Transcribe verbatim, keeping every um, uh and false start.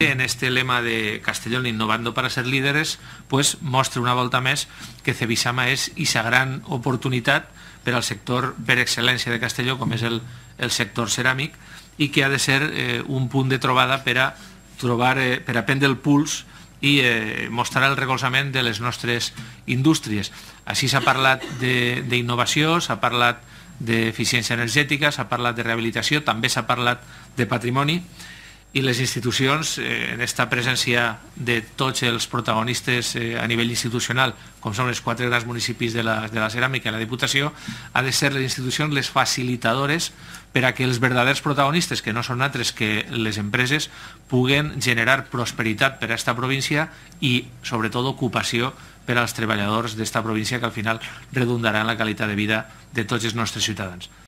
En este lema de Castellón innovando para ser líderes, pues mostra una volta més que Cebisama és aquesta gran oportunitat per al sector per excel·lència de Castelló, com és el, el sector ceràmic, i que ha de ser eh, un punt de trobada per a, trobar, eh, per a prendre el puls i eh, mostrar el recolzament de les nostres indústries. Així s'ha parlat d'innovació, s'ha parlat d'eficiència energètica, s'ha parlat de rehabilitació, també s'ha parlat de patrimoni, i les institucions, eh, en aquesta presència de tots els protagonistes eh, a nivell institucional, com són els quatre grans municipis de la, de la ceràmica i la Diputació, ha de ser les institucions les facilitadores per a que els verdaders protagonistes, que no són altres que les empreses, puguen generar prosperitat per a aquesta província i, sobretot, ocupació per als treballadors d'esta província, que al final redundarà en la qualitat de vida de tots els nostres ciutadans.